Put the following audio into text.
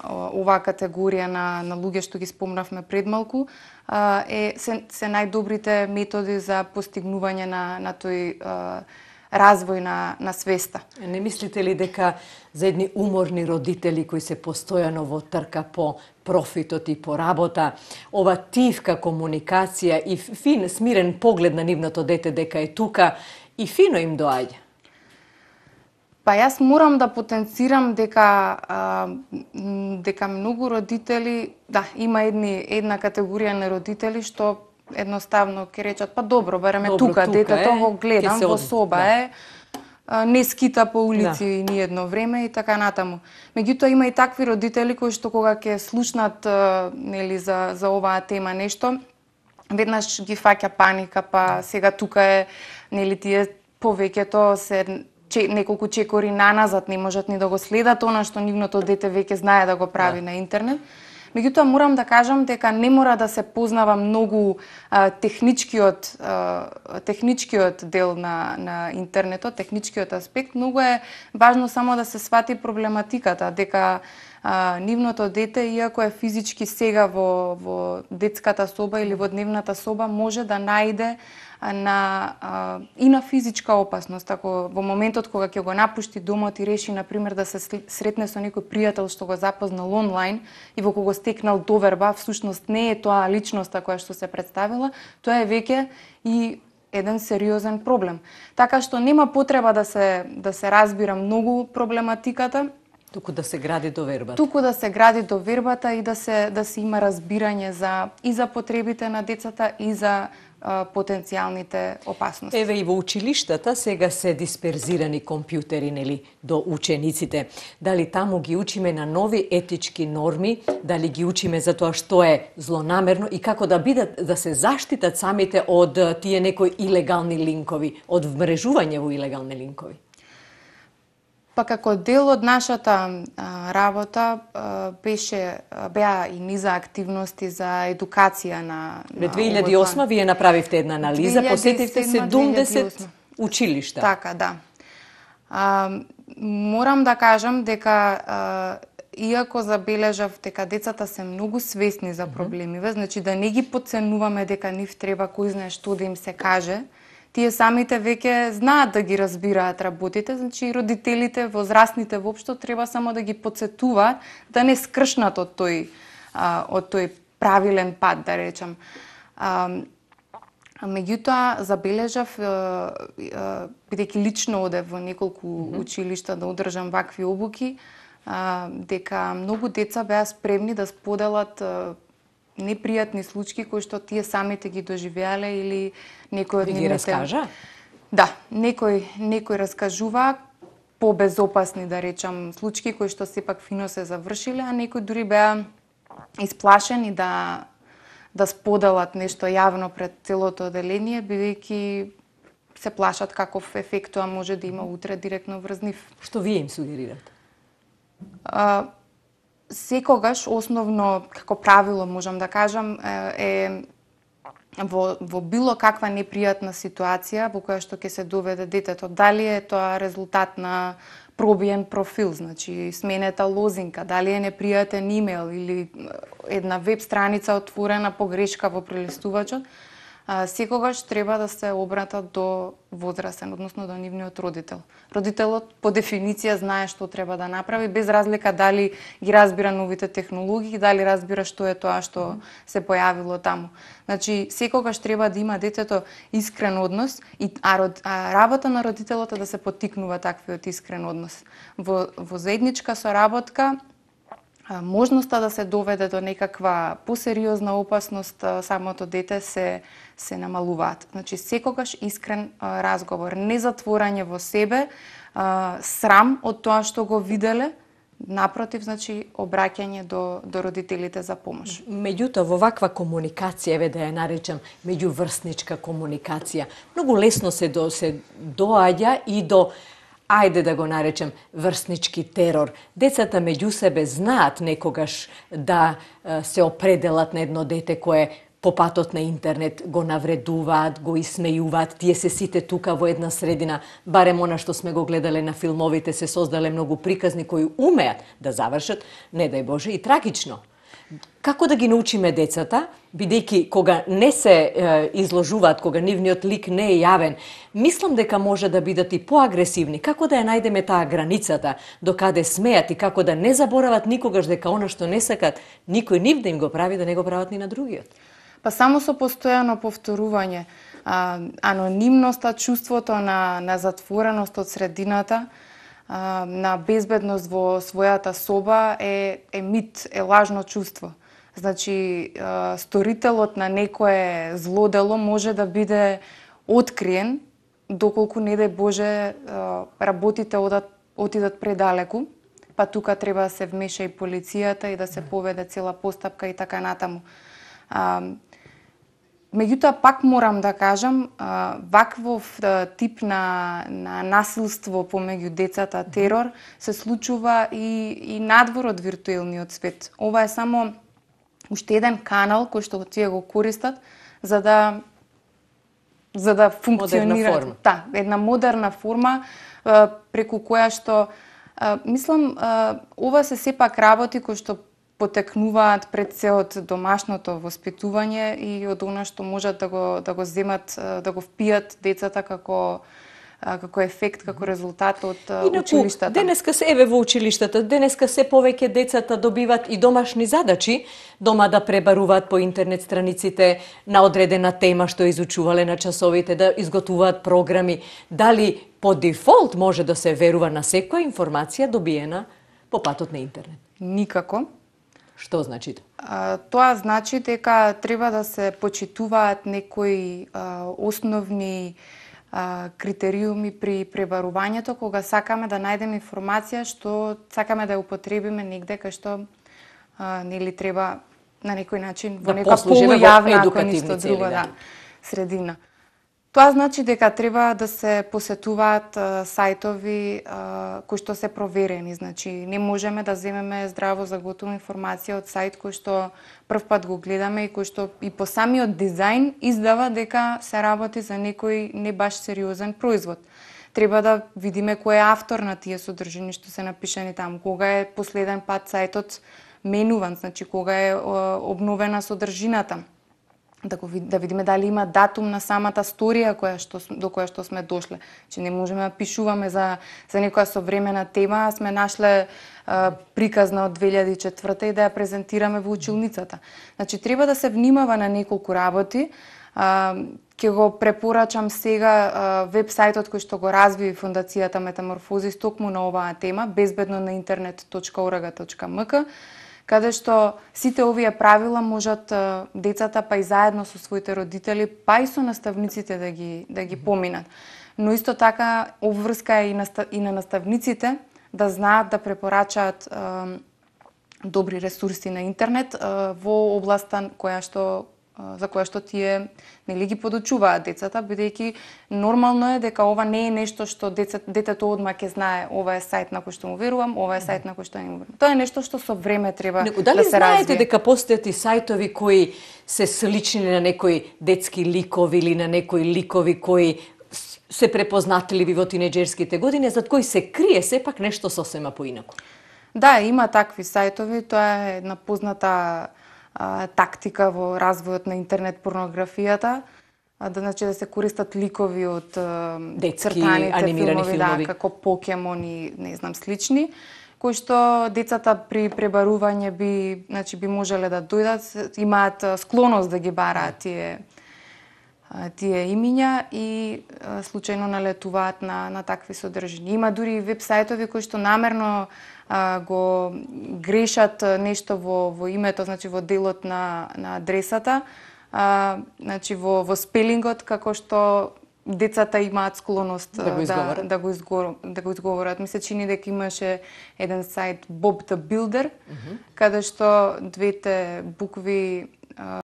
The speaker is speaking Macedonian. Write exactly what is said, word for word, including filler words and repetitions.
оваа категорија на, на луѓе што ги спомнавме пред малку, е, се, се најдобрите методи за постигнување на, на тој развој на, на свеста. Не мислите ли дека за едни уморни родители кои се постојано во трка по профитот и по работа, ова тивка комуникација и фин, смирен поглед на нивното дете дека е тука и фино им доаѓа? Па јас морам да потенцирам дека а, дека многу родители, да, има едни една категорија на родители што едноставно ќе речат па добро, бареме добро, тука, тука детето е, го гледам во соба да. е, а, не скита по улици да. ни едно време и така натаму. Меѓутоа има и такви родители кои што кога ќе слушнат а, нели за за оваа тема нешто, веднаш ги фаќа паника, па сега тука е нели тие повеќето се че, неколку чекори наназад не можат ни да го следат она што нивното дете веќе знае да го прави да. на интернет. Меѓутоа морам да кажам дека не мора да се познава многу а, техничкиот а, техничкиот дел на на интернетот, техничкиот аспект. Многу е важно само да се свати проблематиката дека а, нивното дете, иако е физички сега во во детската соба или во дневната соба, може да најде на а, и на физичка опасност. Ако во моментот кога ќе го напушти домот и реши на пример да се сретне со некој пријател што го запознал онлайн и во кого стекнал доверба, всушност не е тоа личноста која што се представила, тоа е веќе и еден сериозен проблем. Така што нема потреба да се да се разбира многу проблематиката, туку да се гради довербата. Туку да се гради довербата и да се да се има разбирање за и за потребите на децата и за потенцијалните опасности. Еве и во училиштата сега се дисперзирани компјутери, нели, до учениците. Дали таму ги учиме на нови етички норми, дали ги учиме за тоа што е злонамерно и како да бидат да се заштитат самите од тие некои илегални линкови, од вмрежување во илегални линкови? Па како дел од нашата а, работа а, беше беа и низа активности за едукација на, на две илјади и осма вие направивте една анализа, посетивте седумдесет училишта. Така, да. А, морам да кажам дека а, иако забележав дека децата се многу свесни за проблемиве, значи да не ги потценуваме дека нив треба кој знае што да им се каже, тие самите веќе знаат да ги разбираат работите, значи родителите, возрастните воопшто треба само да ги потсетуваат да не скршнат од тој а, од тој правилен пат, да речам. А, меѓутоа забележав, бидејќи лично одев во неколку mm -hmm. училишта да одржам вакви обуки, а, дека многу деца беа спремни да споделат а, непријатни случаи кои што тие самите ги доживеале или некој од нивните... ги раскажа? Да, некој некој раскажува побезопасни, да речам, случаи кои што сепак фино се завршиле, а некои дури беа исплашени да да споделат нешто јавно пред целото оделение, бидејќи се плашат каков ефект тоа може да има утре директно врз нив. Што вие им сугерирате? А, секогаш, основно, како правило, можам да кажам, е во, во било каква непријатна ситуација во која што ќе се доведе детето, дали е тоа резултат на пробиен профил, значи сменета лозинка, дали е непријатен имейл или една веб страница отворена погрешка во прелистувачот, секогаш треба да се обратат до возрастен, односно до нивниот родител. Родителот по дефиниција знае што треба да направи, без разлика дали ги разбира новите технологии, дали разбира што е тоа што се појавило таму. Значи, секогаш треба да има детето искрен однос, и, а, род, а работа на родителот е да се поттикнува таквиот искрен однос. Во, во заедничка соработка, можноста да се доведе до некаква посериозна опасност, самото дете се се намалуваат. Значи секогаш искрен а, разговор, не затворање во себе, а, срам од тоа што го виделе, напротив, значи обраќање до до родителите за помош. Меѓутоа во ваква комуникација, еве да ја наречам меѓуврсничка комуникација, многу лесно се до се доаѓа и до, ајде да го наречем, врснички терор. Децата меѓу себе знаат некогаш да се определат на едно дете кое по патот на интернет го навредуваат, го исмејуваат, тие се сите тука во една средина, барем она што сме го гледале на филмовите, се создале многу приказни кои умеат да завршат, не дај Боже, и трагично. Како да ги научиме децата, бидејќи кога не се е, изложуваат, кога нивниот лик не е јавен, мислам дека може да бидат и поагресивни. Како да ја најдеме таа границата, до каде смеат и како да не заборават никогаш дека она што не сакат, никој нив да им го прави, да не го прават ни на другиот? Па само со постојано повторување, а, анонимноста, чувството на, на затвореност од средината, а, на безбедност во својата соба е, е мит, е лажно чувство. Значи, а, сторителот на некое злодело може да биде откриен, доколку не дај Боже а, работите одат, отидат предалеку, па тука треба да се вмеша и полицијата и да се поведе цела постапка и така натаму. А, Меѓутоа, пак морам да кажам, ваквов тип на, на насилство помеѓу децата, терор, се случува и, и надвор од виртуелниот свет. Ова е само уште еден канал кој што тие го користат за да за да функционира. Да, една модерна форма преку која што мислам ова се сепак работи кои што потекнуваат пред се од домашното воспитување и од она што можат да го да го земат, да го впијат децата како како ефект, како резултат од Инаку, училиштата. Денеска се еве во училиштата, денеска се повеќе децата добиваат и домашни задачи, дома да пребаруваат по интернет страниците на одредена тема што изучувале на часовите, да изготвуваат програми. Дали по дефолт може да се верува на секоја информација добиена по патот на интернет? Никако. Што значи тоа? Тоа значи дека треба да се почитуваат некои а, основни а, критериуми при пребарувањето, кога сакаме да најдеме информација што сакаме да ја употребиме негде кај што а, нели треба на некој начин во да нека полујавна, ако ништо друго, да, средина. Тоа значи дека треба да се посетуваат а, сајтови а, кои што се проверени. Значи, не можеме да земеме здраво заготова информација од сајт кој што прв пат го гледаме и кој што и по самиот дизајн издава дека се работи за некој не баш сериозен производ. Треба да видиме кој е автор на тие содржини што се напишани таму, кога е последен пат сајтот менуван, значи кога е а, обновена содржината. Да, го, да видиме дали има датум на самата сторија која што, до која што сме дошле. Че не можеме да пишуваме за, за некоја современа тема, а сме нашле а, приказна од две илјади и четврта и да ја презентираме во училницата. Значи, треба да се внимава на неколку работи. А, ќе го препорачам сега веб-сајтот кој што го разви Фондацијата Метаморфозис токму на оваа тема, безбедно на интернет точка орг точка ем ка, каде што сите овие правила можат децата, па и заедно со своите родители, па и со наставниците да ги да ги поминат. Но исто така обврска е и на, и на наставниците да знаат да препорачаат е, добри ресурси на интернет е, во областа која што за која што тие нели ги подучуваат децата, бидејќи нормално е дека ова не е нешто што децата, детето одма ќе знае, ова е сајт на кој што му верувам, ова е сајт на кој што не му верувам. Тоа е нешто што со време треба Неко, да се развие. Дали знаете дека постојат и сајтови кои се слични на некои детски ликови или на некои ликови кои се препознатливи во тинеџерските години, зад кои се крие сепак нешто сосема поинаку? Да, има такви сајтови, тоа е една позната тактика во развојот на интернет порнографијата, да значи да се користат ликови од детски цртаните анимирани филмови, филмови, да, како покемони, не знам, слични, кои што децата при пребарување би, значи би можеле да дојдат, имаат склоност да ги бараат тие тие имиња и случајно налетуваат на на такви содржини. Има дури и веб-сајтови кои што намерно а, го грешат нешто во во името, значи во делот на на адресата, а, значи во во спелингот, како што децата имаат склоност да го изговорат. Да, да го изговорат, да го изговорат. Ми се чини дека имаше еден сајт Bob the Builder, mm-hmm. каде што двете букви